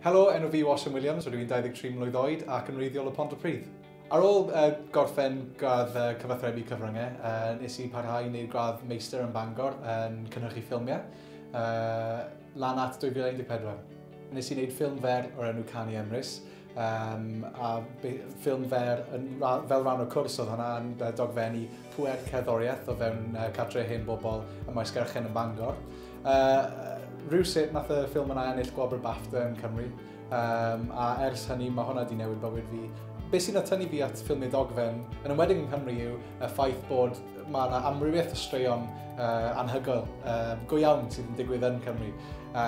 Helo, enw fi yw Osian Williams, rydw i'n 23 mlwydd oed ac yn wreiddiol o Pontypridd. Ar ôl gorffen gradd cyfathrebu cyfryngau, nes i parhau i wneud gradd meistr yn Bangor yn cynhyrchu ffilmiau, lan at 2014. Nes i wneud ffilm fer o'r enw Canu Emrys, a ffilm fer fel rhan o'r cwrs oedd hwnna yn dogfennu pŵer cerddoriaeth o fewn cartre hen bobl ym Maesgeirchen yn Bangor. Rhywsut nath y ffilm yna ennill gwobr BAFTA yn Cymru, a ers hynny mae hwnna wedi newid bywyd fi. Be sy'n atynnu fi at ffilmiau dogfen, yn enwedig yng Nghymru, yw y ffaith bod mae yna amrywiaeth o straeon anhygoel, go iawn sydd yn digwydd yn Cymru. A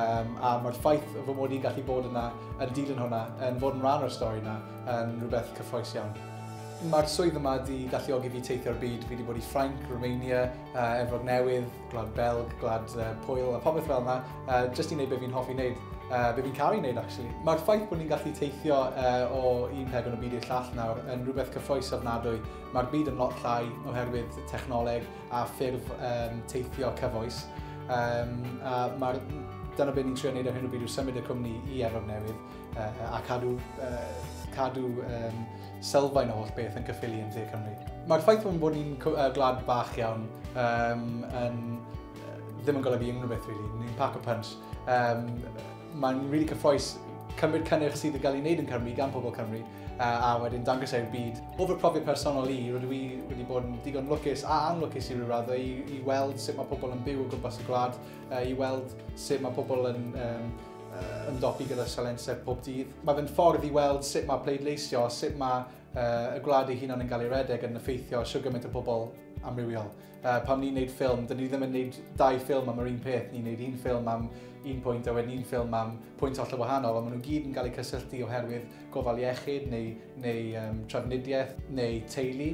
mae'r ffaith fy mod i'n gallu bod yna yn dilyn hwnna, yn fod yn rhan o'r stori yna, yn rhywbeth cyffrous iawn. Mae'r swydd yma wedi galluogi fi teithio'r byd. Fi wedi bod i Ffrainc, Romania, Efrog Newydd, Gwlad Belg, Gwlad Pwyl a popeth fel yna, jyst i wneud beth fi'n hoffi wneud, be fi'n caru wneud actually. Mae'r ffaith bod ni'n gallu teithio o un pegwn o byd i'r llall nawr yn rhywbeth cyffrous ofnadwy. Mae'r byd yn lot llai oherwydd technoleg a ffurf teithio cyfoes. A dyna beth ni'n trio wneud ar hyn o bryd yw symud y cwmni i Efrog Newydd a cadw sylfaen o holl beth yn Caerffili yn dde Cymru. Mae'r ffaith bod ni'n gwlad bach iawn ddim yn golygu unrhyw beth, really. Ni'n pack a punch. Mae'n really cyffrous cymryd cynnyrch sydd yn cael ei wneud yn Cymru gan pobl Cymru a wedyn dangos e'r byd. O fy profiad personol i, rydw i wedi bod yn digon lwcus a anlwcus i ryw raddau i weld sut mae pobl yn byw o gwmpas y gwlad, i weld sut mae pobl yn ymdopi gyda sialensau pob dydd. Mae fe'n ffordd i weld sut mae pleidleisio, sut mae y gwlad ei hunan yn cael ei redeg yn effeithio shwd gymaint o bobl amrywiol. Pan ni'n neud ffilm, dyn ni ddim yn neud dau ffilm am yr un peth, ni'n neud un ffilm am un pwynt a wedyn un ffilm am pwynt hollol wahanol, ond maen nhw gyd yn cael eu cysylltu oherwydd gofal iechyd neu trafnidiaeth neu teulu.